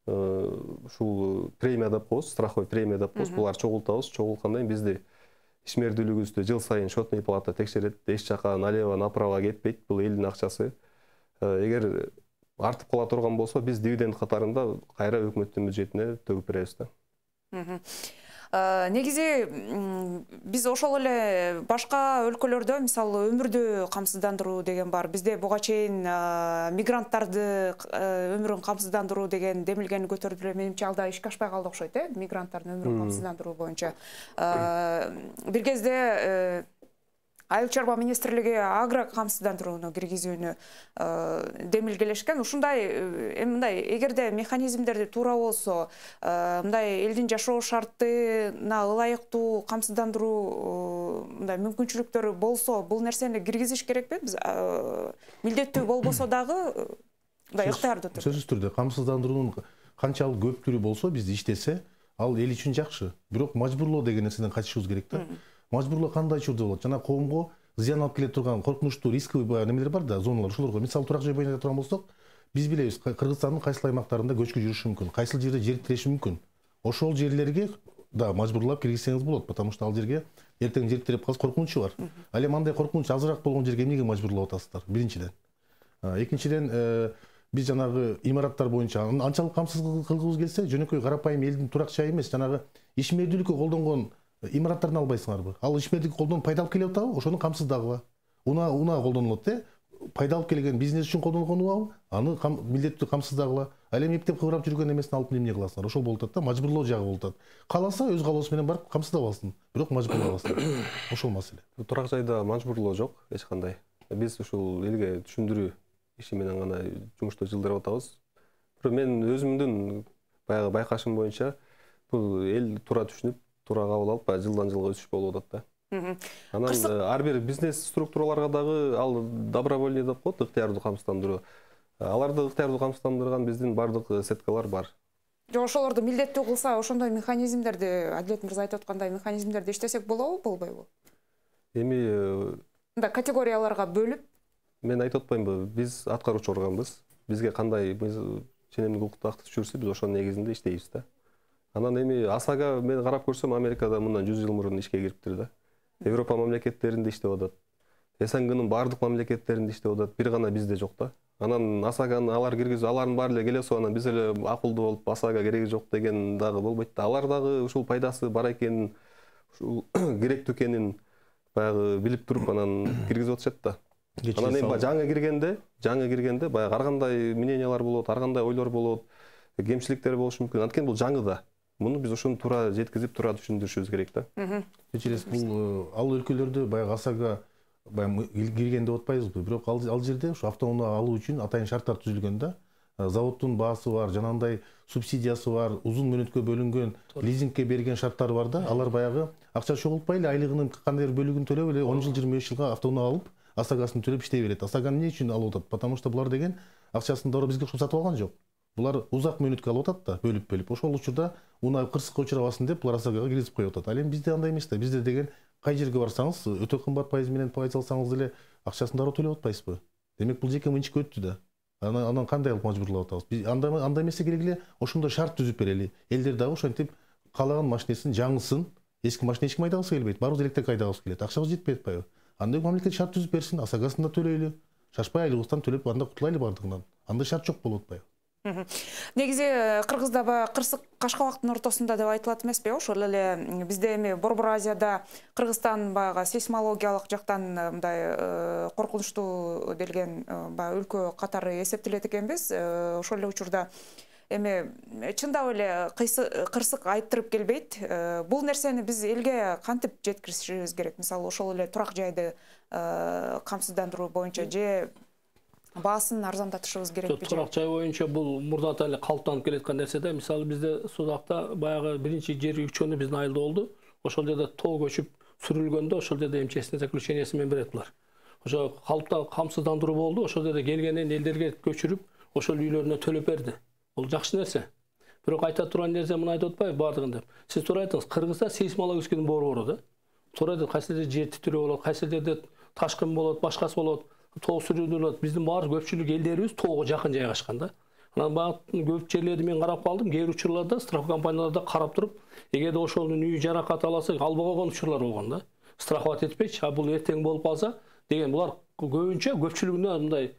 ушул премия деп коебуз, страховой премия деп коебуз. Булар чогултабыз. Чогулткандан кийин бизди ишмердүүлүгүбүздү жыл сайын счетный палата текшерет. Эч жака налево направо кетпейт. Бул элдин акчасы. Эгер артып кала турган болсо, биз дивиденд катарында кайра өкмөттүн бюджетине төгүп беребиз да. Негизи биз ошол эле башка өлкөлөрдө мисалы өмүрдү камсыздандыруу деген бар. Бизде буга чейин мигранттарды өмүрүн камсыздандыруу деген демилгени көтөрүп эле менимче алда ишке ашпай калды окшойт, э, мигранттардын өмүрүн камсыздандыруу боюнча. Бир кезде Айыл чарба министрлиги агро камсыздандырууну киргизүүнү демилгелешкен. Ушундай эми мындай эгерде механизмдерди туура болсо, мындай элдин жашоо шартына ылайыктуу камсыздандыруу мындай мүмкүнчүлүктөрү болсо, бул нерсени киргизиш керекпи? Биз милдеттүү болбосо дагы мындай ыктыярдуу түрдө. Сөзсүз түрдө камсыздандыруунун канчалык көп түрү болсо, бизди иштесе, ал эл үчүн жакшы. Бирок мажбурлоо деген нерседен качышыбыз керек да. Мажбурлоо кандай учурда болот? Жана коомго зыян алып келе турган коркунучтуу рисковый баягы немелер бар да, зоналар. Ошолорго мисалы турак жай боюнча турган болсок, биз билебиз, Кыргызстандын кайсыл аймактарында көчкү жүрүшү мүмкүн, кайсыл жерде жер тиреши мүмкүн. Ошол жерлерге да мажбурлап киргизсеңиз болот, потому что ал жерге эртең жер тиреп калса коркунучу бар. Ал эми андай коркунуч азыраак болгон жерге эмнеге мажбурлап атасыздар? Биринчиден. Экинчиден, биз жанагы имараттар боюнча анчалык камсыз кылгыбыз келсе, жөнөкөй карапайым элдин турак жайы эмес, жанагы ишмердүүлүккө колдонгон имараттарын албайсыңарбы? Ал ишмердүүлүккө колдонуп пайда алып келип атабы? Ошону камсыздагыла. Унаа унаа колдонулат, э? Пайда алып келген бизнес үчүн колдонгон унаабы? Аны милдеттүү камсыздагыла. Ал эми эптеп кыбырап жүргөн эмесин алып эмне кыласыңар? Ошол болуп атат да, мажбурлоо жагы болуп атат. Кааласа өз каалоосу менен барып камсыздап алсын, бирок мажбурлабасын. Ошол маселе. Турак жайда мажбурлоо жок эч кандай. Биз ушул элге түшүндүрүү иши менен гана жумушту жылдырып атабыз. Бирок мен өзүмдүн баягы байкашым боюнча бул эл туура түшүнүп, туура кабыл алып, жылдан жылга өсүш болуп атат да. Анан ар бир бизнес структураларга дагы ал добровольный деп коет, ыктыярдуу камсыздандыруу. Аларды ыктыярдуу камсыздандырган биздин бардык сеткалар бар. Жок, ошолорду милдеттүү кылса, ошондой механизмдерди, Адилет мырза айтып аткандай механизмдерди иштесек болобу, болбойбу? Эми мындай категорияларга бөлүп, мен айтып атпаймынбы, биз аткаруучу органбыз. Бизге кандай ченемдик укукту акты түшүрсө, биз ошонун негизинде иштейбиз да. Анан эми АСАГа мен карап көрсөм, Америкада мындан жүз жыл мурун ишке кириптир да. Европа мамлекеттеринде иштеп атат. СНГнын бардык мамлекеттеринде иштеп атат. Бир гана бизде жок да. Анан АСАГаны алар киргизип, алардын баары эле келесип, анан биз эле акылдуу болуп АСАГа кереги жок деген дагы болбойт да. Алар дагы ушул пайдасы бар экенин, ушул керектүү экенин баягы билип туруп анан киргизип атышат да. Анан эми жаңы киргенде, жаңы киргенде баягы ар кандай мнениялар болот, ар кандай ойлор болот, кемчиликтер болушу мүмкүн. Анткени бул жаңы да. Муну биз ошону туура жеткизип, туура түшүндүрүшүбүз керек да. Кечиресиз, бул ал өлкөлөрдө баягы АСАГа баягы кирген деп атпайбызбы, бирок ал жерде ушу автоунаа алуу үчүн атайын шарттар түзүлгөн да. заводдун баасы бар, жанагындай субсидиясы бар, узун мөөнөткө бөлүнгөн, лизингке берген шарттары бар да, алар баягы акча чогултпай эле айлыгынын кандайдыр бөлүгүн төлөп эле он жыл жыйырма беш жылга автоунаа алып, ОСАГОсын төлөп иштей берет. ОСАГОны эмне үчүн алып атат? Потому что булар деген акчасын дароо бизге сатып алган жок. Булар узак мөөнөткө алып атат да, бөлүп-бөлүп. Ошол учурда унаа кырсыкка учурабасын деп булар ОСАГОго киргизип коюп атат. Ал эми бизде андай эмес да. Бизде деген кай жерге барсаңыз, өтө кымбат пайыз менен пайыз алсаңыз деле акчасын дароо төлөп атпайсызбы? Демек бул жеке менчикке өттү да. Анан анан кандай кылып мажбурлап атабыз? Биз андай андай эмесе керек эле ошондой шарт түзүп берели. Элдер дагы ошентип каалаган машинесин жаңысын, эски машина эч ким айдагысы келбейт. Баарыбыз электрик айдагыбыз келет. Акчабыз жетпей атпайбы? Андай мамлекет шарт түзүп берсин, ОСАГОсын да төлөйлү. Шашпай айлыгыбыздан төлөп анда кутулайлы бардыгынан. Андай шарт жок болуп атпайбы? Негизи Кыргызда баягы Кырсык Кашкабактын ортосунда деп айтылат эмеспи? Ошол эле бизде эми Борбор Азияда Кыргызстан баягы сейсмологиялык жактан мындай коркунучтуу делген баягы өлкө катары эсептелет экенбиз. Ошол эле учурда эми чындап эле кырсык айттырып келбейт. Бул нерсени биз элге кантип жеткиришибиз керек? Мисалы ошол эле турак жайды камсыздандыруу боюнча же баасын арзандатышыбыз керекпи? Турак жай боюнча бул мурдан эле калыптанып келаткан нерсе да. Мисалы бизде Судакта баягы биринчи жер учкөнү биздин айылда болду. Ошол жерде тоо көчүп сүрүлгөндө ошол жерде МЧСтин заключениясы менен берет булар. Ошо калыптан камсыздандыруу болду. Ошол жерде келгенин элдерге көчүрүп, ошол үйлөрүнө төлөп берди. Бул жакшы нерсе. Бирок айта турган нерсе муну айтып атпайбы бардыгын деп. Сиз туура айттыңыз, Кыргызда сейсмологический борбору да. Туура айтат, кайсы жерде жер титирөө болот, кайсы жерде ташкын болот, башкасы болот. Тоо сүрүлөт. Биздин баары көпчүлүк элдерибиз тоого жакын жайгашкан да. Анан багы көп жерлерди мен карап калдым. Кээ бир учурларда страховка компанияларда карап туруп, эгерде ошонун үйү жаракат алса, албай койгон учурлар болгон да. Страховать этпейчи, а бул эртең болуп калса деген булар көбүнчө көпчүлүгүндө мындай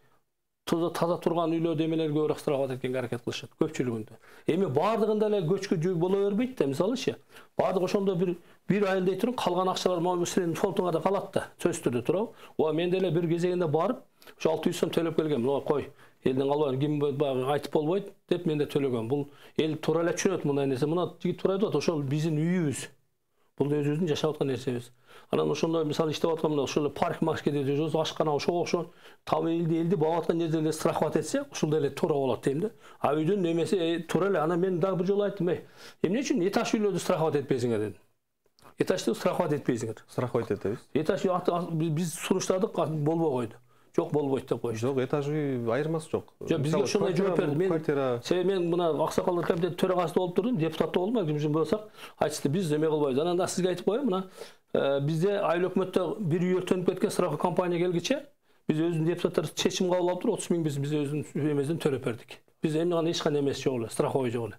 таза турган үйлөрдө эмелерге көбүрөөк страховать эткенге аракет кылышат көпчүлүгүндө. Эми бардыгында эле көчкү жөө боло бербейт да. Мисалычы, бардык ошондо бир бир айыл дей туруп калган акчалар могу сенин фондуңа да калат да. Сөзсүз түрдө туурабы? Ооба мен деле бир кезегинде барып, ошо алты жүз сом төлөп келгем. Ооба кой, элдин калбай ким баягы айтып болбойт деп мен да төлөгөм. Бул эл туура эле түшүнөт мындай нерсе. Мына жигит туура айтып атат, ошол биздин үйүбүз. Бул өзүбүздүн жашап аткан нерсебиз. Анан ошондой мисалы иштеп атканда ошол парк маркетте жашообуз, ашкана ошого окшогон там элди элди багып аткан жерде страховать этсе, ушул деле туура болот дейм да. А үйдүн немеси туура эле. Анан мен дагы бир жолу айттым, эй, эмне үчүн этаж үйлөрдү страховать этпейсиңер дедим. Этажды страховать этпейсиңер. Страховать этебиз. Этаж биз суруштадык, болбой койду. Жок болбойт деп койчу. Жок, этаж үй айырмасы жок. Жок, бизге ошондой жооп берди. Мен себеби мен мына Аксакалдар комитети төрагасы болуп турдум, депутат болдум, ким үчүн болсак, айтышты, биз эме кылбайбыз. Анан да сизге айтып коеюн, мына бизде айыл өкмөттө бир үй өртөнүп кеткен страховка компания келгиче, биз өзүбүздүн депутаттар чечим кабыл алып туруп отуз миң биз биз өзүбүздүн эмезден төлөп бердик. Биз эми кандай эч кандай эмес жок эле, страховой жок эле.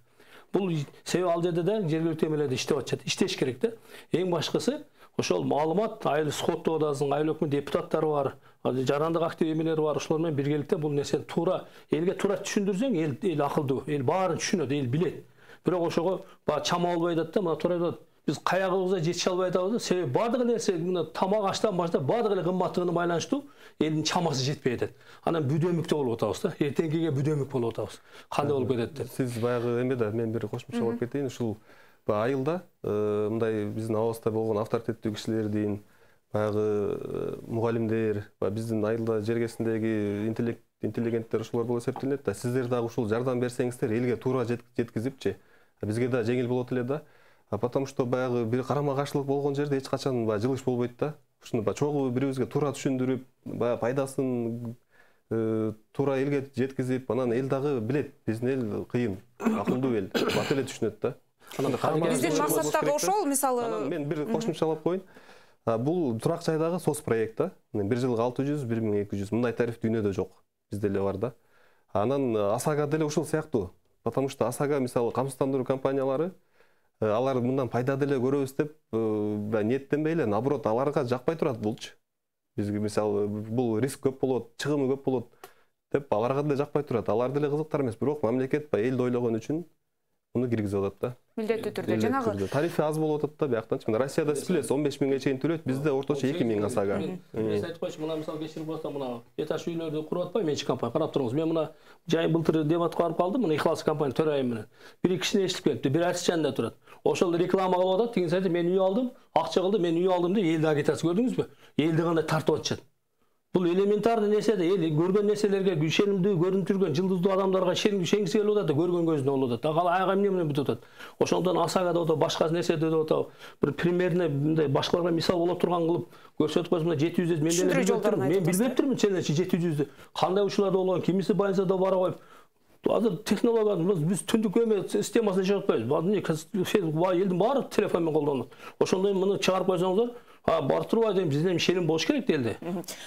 Бул себеби ал жерде да жергиликтүү эмелерде иштеп атышат. Иштеш керек да. Эң башкысы ошол маалымат айыл сходдо одасынын айыл өкмөт депутаттары бар, жарандык актив эмелери бар. Ошолор менен биргеликте бул нерсени туура элге туура түшүндүрсөң, эл эл акылдуу, эл баарын түшүнөт, эл билет. Бирок ошого баягы чама болбой атат да, мына туура айтат. Биз каягыбызга жетише албай атабыз да. Себеби бардык нерсе мына тамак аштан баштап бардык эле кымбаттыгына байланыштуу элдин чамасы жетпей атат. Анан бүдөмүктө болуп атабыз да. Эртеңкиге бүдөмүк болуп атабыз. Кандай болуп кетет деп. Сиз баягы эме да, мен бир кошумча болуп кетейин. Ушул айылда мындай биздин абыбызда болгон авторитеттүү кишилердин, баягы мугалимдер, биздин айылда жергесиндеги интеллигенттер ушулар болуп эсептелет да. Сиздер дагы ушул жардам берсеңиздер, элге туура жеткизипчи, бизге да жеңил болот эле да. Потому что баягы бир карама каршылык болгон жерде эч качан баягы жылыш болбойт да. Ушуну баягы чогуу бирибизге туура түшүндүрүп, баягы пайдасын туура элге жеткизип, анан эл дагы билет, биздин эл кыйын, акылдуу эл, бат эле түшүнөт да. Биздин максат дагы ошол, мисалы. Мен бир кошумчалап коеюн. Бул турак жайдагы сос проект да. Бир жылга алты жүз, бир миң эки жүз. Мындай тариф дүйнөдө жок. Бизде эле бар да. Анан ОСАГО деле ушул сыяктуу. Потому что ОСАГО мисалы камсыздандыруу компаниялары алар мындан пайда деле көрөбүз деп ниеттенбей эле, наоборот, аларга жакпай турат булчу. Бизге мисалы бул риск көп болот, чыгымы көп болот деп аларга деле жакпай турат. Алар деле кызыктар эмес, бирок мамлекет баягы элди ойлогон үчүн муну киргизип атат да. Милдеттүү түрдө жанагы тарифи аз болуп атат да бияктанчы. Мына Россияда сиз билесиз он беш миңге чейин төлөйт, бизде орточо эки миң ОСАГО. Мен айтып койчу, мына мисалы кечирип болсо, мына этаж үйлөрдү куруп атпайбы менчик компания, карап туруңуз. Мен мына жай былтыр дебатка барып калдым, мына Ихлас компания төрайым менен. Бир кишини эшитип келипти, бир арчанында турат. Ошол реклама кылып атат, деген сайты мен үй алдым, акча кылды, мен үй алдым деп элди агитация көрдүңүзбү? Элди кандай тартып атышат. Бул элементарный нерсе да, эл көргөн нерселерге ишенимдүү көрүнүп жүргөн жылдыздуу адамдарга ишенгиси келип атат да, көргөн көзүнө болуп атат. Ага айга эмне менен бүтүп атат. Ошондон АСАга да отуп, башка нерседе да отуп, бир примерно мындай башкаларга мисал боло турган кылып көрсөтүп койсо, мына жети жүз мен деле билбептирмин. Мен билбептирмин сендерчи жети жүздү. Кандай учурларда болгон, кимиси больницада бара коюп. Азыр технология биз түндүк эме системасын чыгарып атпайбыз. Элдин баары телефон менен колдонот. Ошондой муну чыгарып койсоңуздар, а барып турбай дейм, бизден ишеним болуш керек делди.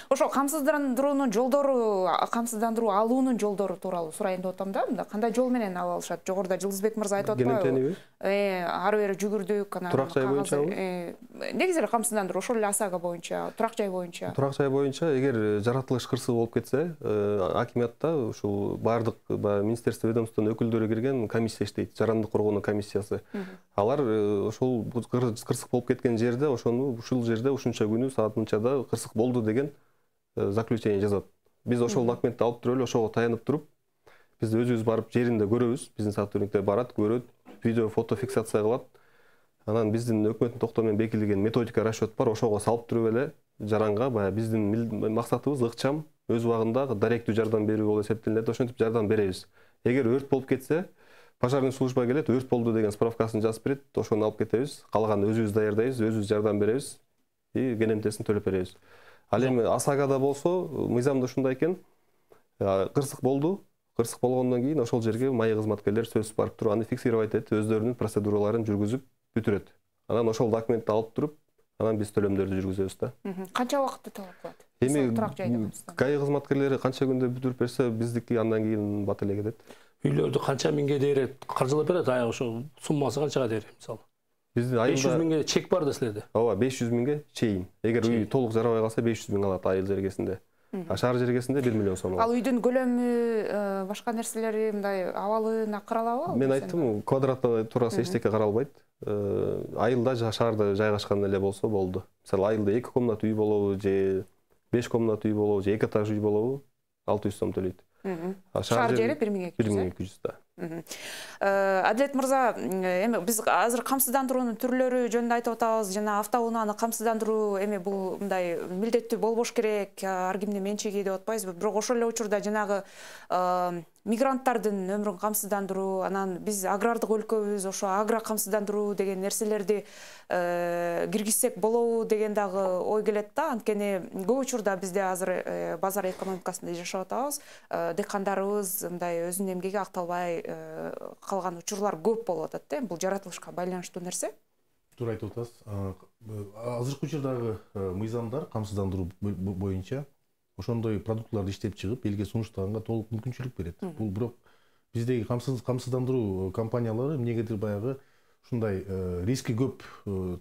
Ошо камсыздандыруунун жолдору, камсыздандыруу алуунун жолдору тууралуу сурайын деп атам да. Мында кандай жол менен ала алышат? Жогоруда Жылдызбек мырза айтып атпайбы? Э, ары бери жүгүрдүк, анан турак жай боюнча. Негизи эле камсыздандыруу ошол эле АСАга боюнча, турак жай боюнча. Турак жай боюнча эгер жаратылыш кырсыгы болуп кетсе, акимиятта ушул бардык министерство ведомствонун өкүлдөрү кирген комиссия иштейт, жарандык коргоонун комиссиясы. Алар ошол кырсык болуп кеткен жерде, ошону ушул жерде ушунча күнү саат мынчада кырсык болду деген заключение жазат. Биз ошол документти алып туруп эле ошого таянып туруп, биз өзүбүз барып жеринде көрөбүз. Биздин сотрудниктер барат, көрөт, видео, фото фиксация кылат. Анан биздин өкмөттүн токтому менен бекитилген методика, расчет бар, ошого салып туруп эле жаранга баягы биздин максатыбыз ыкчам, өз убагында даректүү жардам берүү болуп эсептелет. Ошентип жардам беребиз. Эгер өрт болуп кетсе, пожарный служба келет, өрт болду деген справкасын жазып берет, ошону алып кетебиз. Калганын өзүбүз даярдайбыз, өзүбүз жардам беребиз и кенемтесин төлөп беребиз. Ал эми АСАгада болсо, мыйзамда ушундай экен, кырсык болду, кырсык болгондон кийин ошол жерге майы кызматкерлер сөзсүз барып туруп, аны фиксировать этип, өздөрүнүн процедураларын жүргүзүп бүтүрөт. Анан ошол документти алып туруп, анан биз төлөмдөрдү жүргүзөбүз да. Канча убакытты талап кылат? Эми ГАИ кызматкерлери канча күндө бүтүрүп берсе, биздики андан кийин бат эле кетет. Үйлөрдү канча миңге дээре каржылап берет, аяк ошо суммасы канчага дээре, мисалы. Биздин айылда беш жүз миңге чек бар да силерде. Ооба, беш жүз миңге чейин. Эгер үй толук жарабай калса беш жүз миң алат айыл жергесинде. А шаар жергесинде бир миллион сом алат. Ал үйдүн көлөмү, башка нерселери, мындай абалына каралабы? Мен айттым, квадрата туурасы эчтеке каралбайт. Айылда, шаарда жайгашкан эле болсо болду. Мисалы, айылда эки комнат үй болобу же беш комнат үй болобу же эки этаж үй болобу, алты жүз сом төлөйт. Шаар жери бир миң эки жүз да. Адилет мырза, эми биз азыр камсыздандыруунун түрлөрү жөнүндө айтып атабыз, жана автоунааны камсыздандыруу эми бул мындай милдеттүү болбош керек, ар кимдин менчиги деп атпайбызбы? Бирок ошол эле учурда жанагы мигранттардын өмүрүн камсыздандыруу, анан биз агрардык өлкөбүз, ошо агро камсыздандыруу деген нерселерди киргизсек болобу деген дагы ой келет да. Анткени көп учурда бизде азыр базар экономикасында жашап атабыз, дыйкандарыбыз мындай өзүнүн эмгеги акталбай калган учурлар көп болуп атат да. Бул жаратылышка байланыштуу нерсе. Туура айтып атасыз. Азыркы учурдагы мыйзамдар камсыздандыруу боюнча ошондой продуктларды иштеп чыгып, элге сунуштаганга толук мүмкүнчүлүк берет. Бул бирок биздеги камсыздандыруу компаниялары эмнегедир баягы ушундай риски көп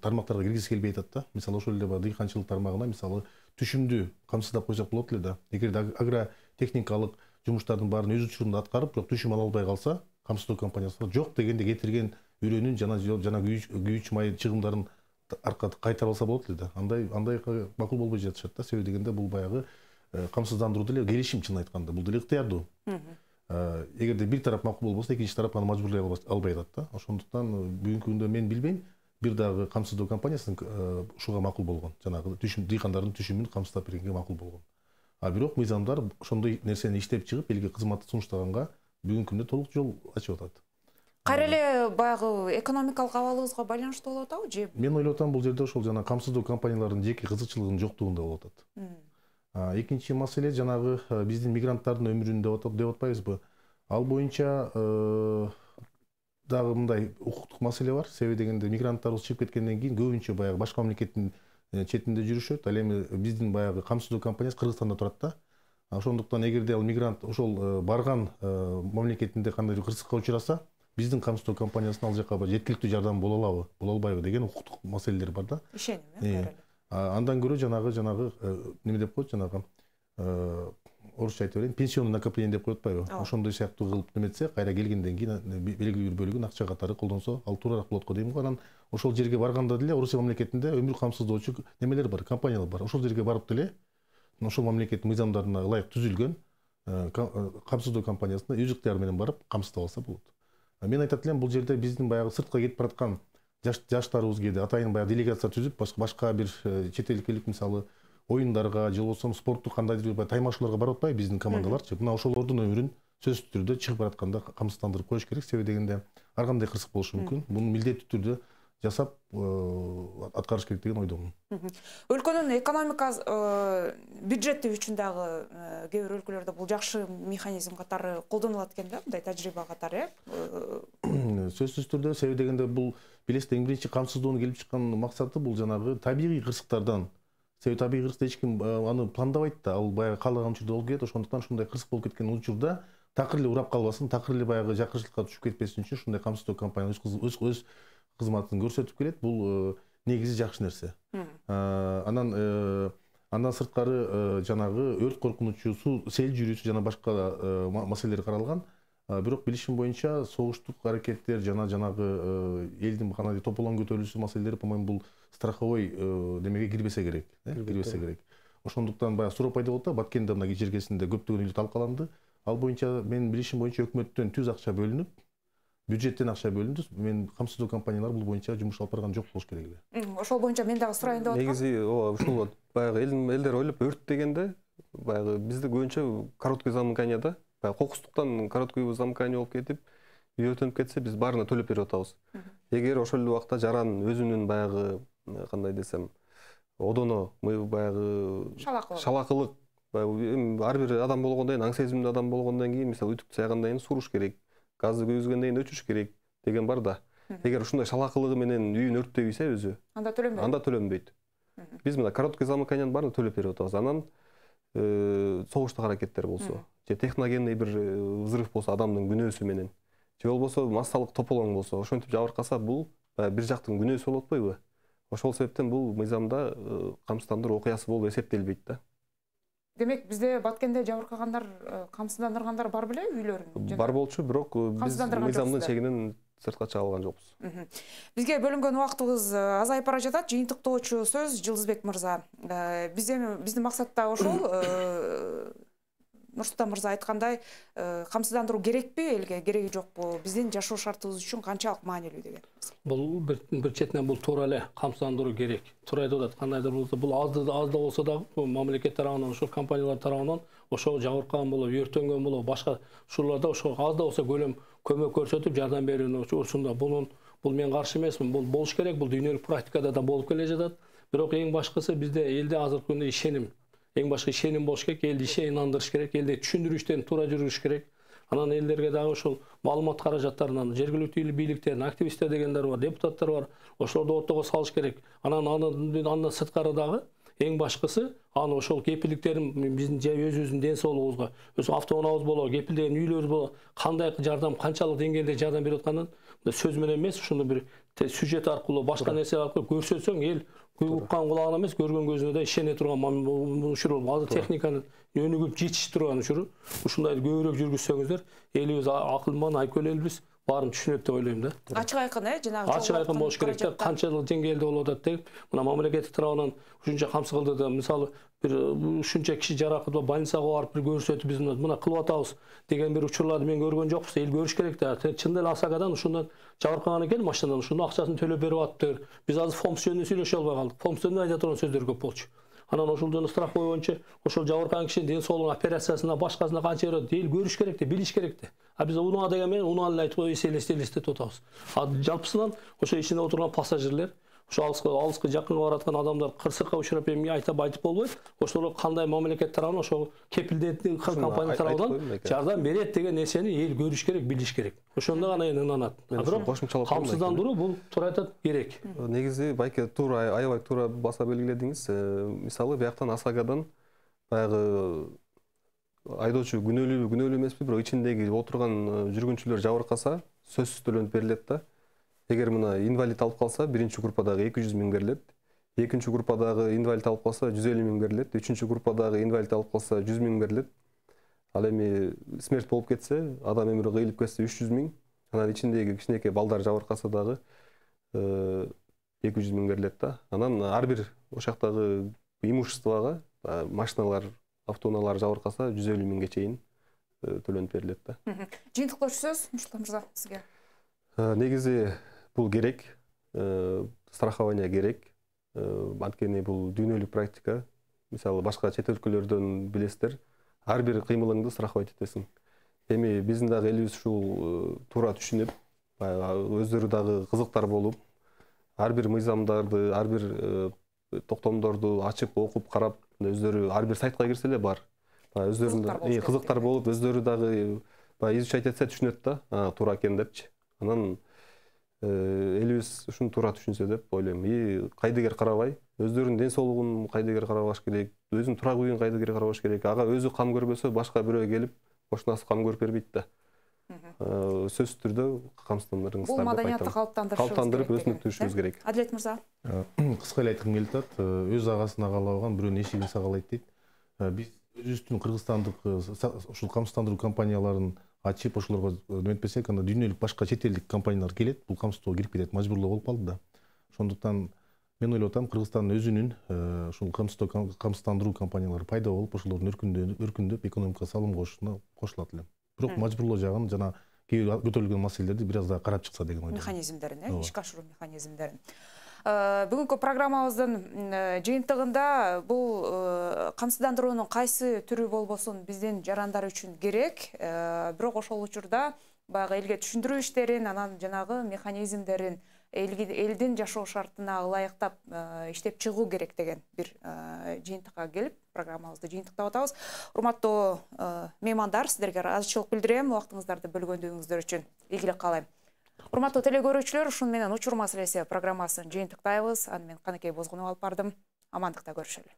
тармактарга киргизи келбей атат да. Мисалы, ошол эле дыйканчылык тармагына мисалы түшүмдү камсыздап койсок болот эле да. Эгер агротехникалык жумуштардын баарын өз учурунда аткарып, бирок түшүм ала албай калса, камсыздоо компаниясы жок дегенде кетирген үрөнүн жана жана күйүүч май чыгымдарын аркада кайтарып алса болот эле да. Андай андай макул болбой жатышат да. Себеби дегенде бул баягы камсыздандыруу деле келишим, чын айтканда, бул деле ыктыярдуу. Эгерде бир тарап макул болбосо, экинчи тарап аны мажбурлай албай атат да. Ошондуктан бүгүнкү күндө мен билбейм, бир дагы камсыздоо компаниясы ушуга макул болгон. Жанагы түшүм, дыйкандардын түшүмүн камсыздап бергенге макул болгон. А бирок мыйзамдар ошондой нерсени иштеп чыгып, элге кызмат сунуштаганга бүгүнкү күндө толук жол ачып атат. Кайра эле баягы экономикалык абалыбызга байланыштуу болуп атабы же? Мен ойлоп атам, бул жерде ошол жана камсыздоо компаниялардын жеке кызыкчылыгынын жоктугунда болуп атат. Экинчи маселе жанагы биздин мигранттардын өмүрүн деп атпайбызбы? Ал боюнча дагы мындай укуктук маселе бар. Себеби дегенде мигранттарыбыз чыгып кеткенден кийин көбүнчө баягы башка мамлекеттин четинде жүрүшөт. Ал эми биздин баягы камсыздоо компаниясы Кыргызстанда турат да. Ошондуктан эгерде ал мигрант ошол барган мамлекетинде кандайдыр кырсыкка учураса, биздин камсыздоо компаниясынан ал жака жеткиликтүү жардам боло алабы, боло албайбы деген укуктук маселелер бар да. Ишеним, э? Андан көрө жанагы жанагы неме деп коет, жанагы орусча айтып берейин, пенсионный накопление деп коет атпайбы? Ошондой сыяктуу кылып неметсе, кайра келгенден кийин белгилүү бир бөлүгүн акча катары колдонсо, ал туурараак болот го дейм го. Анан ошол жерге барганда деле Орусия мамлекетинде өмүр камсыздоочу немелер бар, компаниялар бар. Ошол жерге барып деле ошол мамлекеттин мыйзамдарына ылайык түзүлгөн камсыздоо компаниясына өз ыктыяры менен барып камсыздап алса болот. Мен айтат элем, бул жерде биздин баягы сыртка кетип бараткан жаштарыбыз кээде атайын баягы делегация түзүп, башка бир чет элдик мисалы оюндарга же болбосо спорттук кандайдыр бир таймашууларга барып атпайбы биздин командаларчы. Мына ошолордун өмүрүн сөзсүз түрдө чыгып баратканда камсыздандырып коюш керек. Себеби дегенде ар кандай кырсык болушу мүмкүн. Буну милдеттүү түрдө жасап аткарыш керек деген ойдомун. Өлкөнүн экономика бюджети үчүн дагы кээ бир өлкөлөрдө бул жакшы механизм катары колдонулат экен да, мындай тажрыйба катары, э? Сөзсүз түрдө, себеби дегенде бул билесиз, эң биринчи камсыздоонун келип чыккан максаты бул жанагы табигый кырсыктардан. Себеби табигый кырсыкты эч ким аны пландабайт да, ал баягы каалаган учурда болуп кетет. Ошондуктан ушундай кырсык болуп кеткен учурда такыр эле урап калбасын, такыр эле баягы жакырчылыкка түшүп кетпесин үчүн ушундай камсыздоо компания өз өз кызматын көрсөтүп келет. Бул негизи жакшы нерсе. Анан андан сырткары жанагы өрт коркунучу, суу сел жүрүүсү жана башка маселелер каралган. Бирок билишим боюнча согуштук аракеттер жана жанагы элдин кандайдыр тополоң көтөрүлүүсү маселелери, по-моему, бул страховой демеге кирбесе керек, кирбесе керек. Ошондуктан баягы суроо пайда болот да, Баткенде мына жергесинде көптөгөн үй талкаланды. Ал боюнча менин билишим боюнча өкмөттөн түз акча бөлүнүп, бюджеттен акча бөлүндү. Мен камсыздоо компаниялар бул боюнча жумуш алып барган жок болуш керек эле. Ошол боюнча мен дагы сурайын деп аткам. Негизи ушул баягы элдер ойлоп өрт дегенде баягы бизде көбүнчө короткое замыканияда, баягы кокустуктан короткое замыкание болуп кетип, үй өртөнүп кетсе биз баарына төлөп берип атабыз. Эгер ошол эле убакта жаран өзүнүн баягы кандай десем, одоно баягы шалакылык, ар бир адам болгондон кийин, аң сезимдүү адам болгондон кийин, мисалы үтүктү сайгандан кийин суруш керек, газды көйгөзгөндөн кийин өчүрүш керек деген бар да. Эгер ушундай шалакылыгы менен үйүн өрттөй ийсе өзү, анда төлөнбөйт. Анда төлөнбөйт. Биз мына короткое замыканиянын баарына төлөп берип атабыз. Анан согуштук аракеттер болсо, же техногенный бир взрыв болсо адамдын күнөөсү менен, же болбосо массалык тополоң болсо, ошентип жабыркаса, бул бир жактын күнөөсү болуп атпайбы? Ошол себептен бул мыйзамда камсыздандыруу окуясы болуп эсептелбейт да. Демек, бизде Баткенде жабыркагандар, камсыздандыргандар бар беле үйлөрүн? Бар болчу, бирок биз мыйзамдын чегинен сыртка чыга алган жокпуз. Бизге бөлүнгөн убактыбыз азайып бара жатат. Жыйынтыктоочу сөз Жылдызбек мырза. Биздин биздин максат да ошол. Нурсултан мырза айткандай, камсыздандыруу керекпи элге, кереги жокпу? Биздин жашоо шартыбыз үчүн канчалык маанилүү деген. Бул бир четинен бул туура эле камсыздандыруу керек. Туура айтып атат, кандайдыр болсо, бул аз да аз да болсо да мамлекет тарабынан, ошол компаниялар тарабынан ошол жабыркаган болобу, өртөнгөн болобу, башка ушуларда ошол аз да болсо көлөм көмөк көрсөтүп, жардам берүүнү учурунда бунун бул мен каршы эмесмин. Бул болуш керек, бул дүйнөлүк практикада да болуп келе жатат. Бирок эң башкысы бизде элде азыркы күндө ишеним. Эң башкы ишеним болуш керек, элди ишендириш керек, элди түшүндүрүү иштерин туура жүргүзүш керек. Анан элдерге дагы ошол маалымат каражаттарынан жергиликтүү бийликтердин, активисттер дегендер бар, депутаттар бар. Ошолорду ортого салыш керек. Анан андан сырткары дагы эң башкысы аны ошол кепилдиктерин биздин өзүбүздүн ден соолугубузга, өз автоунаабыз болобу, кепилдеген үйлөрүбүз болобу, кандай жардам, канчалык деңгээлде жардам берип атканын сөз менен эмес, ушуну бир сюжет аркылуу, башка нерсе аркылуу көрсөтсөң, эл уккан кулагына эмес, көргөн көзүнө да ишене турган учуру. Азыр техниканын өнүгүп жетишип турган учуру. Ушундай көбүрөөк жүргүзсөңүздөр, элибиз акылман, айкөл элбиз, баарын түшүнөт деп ойлойм да. Ачык айкын, э, жанагы ачык айкын болуш керек да, канчалык деңгээлде болуп атат деп. Мына мамлекеттик тарабынан ушунча камсыз кылды да, мисалы бир ушунча киши жаракат ба, больницага барып бир көрсөтүп, биз мына кылып атабыз деген бир учурларды мен көргөн жокпуз. Эл көрүш керек да. Чындап эле Асакадан ушундан жабыркаган экен машинадан, ушунун акчасын төлөп берип атыптыр. Биз азыр фонд жөнүндө сүйлөшө албай калдык. Фонд жөнүндө айта турган сөздөр көп болчу. Анан ошол жөнүндө страховой боюнча ошол жабыркаган кишинин ден соолугун операциясына, башкасына канча берет, эл көрүш керек да, билиш керек да. А биз унаа деген менен унааны эле айтып эстелестетип атабыз. А жалпысынан ошо ичинде отурган пассажирлер, ошо алыска алыска жакынга бараткан адамдар кырсыкка учурап эми айтып айтып болбойт. Ошолор кандай мамлекет тарабынан, ошол кепилдеткен компания тарабынан жардам берет деген нерсени эл көрүш керек, билиш керек. Ошондо гана эми ынанат. А бирок камсыздандыруу бул туура айтат, керек. Негизи байке туура, аябай туура баса белгиледиңиз. Мисалы бияктан Асакадан баягы айдоочу күнөөлүү, күнөөлүү эмеспи, бирок ичиндеги отурган жүргүнчүлөр жабыркаса, сөзсүз төлөнүп берилет да. Эгер мына инвалид алып калса, биринчи группадагы эки жүз миң берилет, экинчи группадагы инвалид алып калса, жүз элүү миң берилет, үчүнчү группадагы инвалид алып калса, жүз миң берилет. Ал эми смерть болуп кетсе, адам өмүрү кыйылып кетсе, үч жүз миң, анан ичиндеги кичинекей балдар жабыркаса дагы эки жүз миң берилет да. Анан ар бир ошоктогу имуществого, машиналар, автоунаалар жабыркаса, жүз элүү миңге чейин төлөнүп берилет да. Жыйынтыктоочу сөз, Нурсултан мырза, сизге. Негизи бул керек, страхование керек. Анткени бул дүйнөлүк практика. мисалы башка чет өлкөлөрдөн билесиздер, ар бир кыймылыңды страховать этесиң. Эми биздин дагы элибиз ушул туура түшүнүп, баягы өздөрү дагы кызыктар болуп, ар бир мыйзамдарды, ар бир токтомдорду ачып, окуп, карап, өздөрү ар бир сайтка кирсе эле бар. Өздөрүнүн кызыктар болуп, өздөрү дагы баягы изучать этсе түшүнөт да, туура экен депчи. Анан элибиз ушуну туура түшүнсө деп ойлойм. И кайдыгер карабай, өздөрүнүн ден соолугун кайдыгер карабаш керек, өзүнүн турак үйүн кайдыгер карабаш керек. Ага өзү кам көрбөсө, башка бирөө келип, кошунасы кам көрүп бербейт да. Сөзсүз түрдө камсыздандырыңыздар деп айтам. Бул маданиятты калыптандырып өсүндүрүшүбүз керек. Адилет мырза. Кыска эле айткым келип атат. Өз агасын агалаган бирөөнүн эшигин сагалайт дейт. Биз өзүбүздүн кыргызстандык ушул камсыздандыруу компанияларын ачып, ошолорго нөтпесек, анда дүйнөлүк башка чет элдик компаниялар келет, бул камсыздоого кирип кетет, мажбурлоо болуп калды да. Ошондуктан мен ойлоп атам, Кыргызстандын өзүнүн ушул камсыздандыруу компаниялары пайда болуп, ошолордун өркүндөп, экономикага салым кошушуна кошулат элем. Бирок мажбурлоо жагын жана кээ бир көтөрүлгөн маселелерди бир аз да карап чыкса деген ойдомун. Механизмдерин, э, ишке ашыруу механизмдерин. Бүгүнкү программабыздын жыйынтыгында бул камсыздандыруунун кайсы түрү болбосун биздин жарандар үчүн керек, бирок ошол учурда баягы элге түшүндүрүү иштерин, анан жанагы механизмдерин элдин жашоо шартына ылайыктап иштеп чыгуу керек деген бир жыйынтыкка келип, программабызды жыйынтыктап атабыз. Урматтуу меймандар, сиздерге ыраазычылык билдирем, убактыңыздарды бөлгөндүгүңүздөр үчүн. Ийгилик каалайм. Урматтуу телекөрүүчүлөр, ушун менен учур маселеси программасын жыйынтыктайбыз. Аны мен Каныкей Бозгунова алып бардым. Амандыкта көрүшөлү.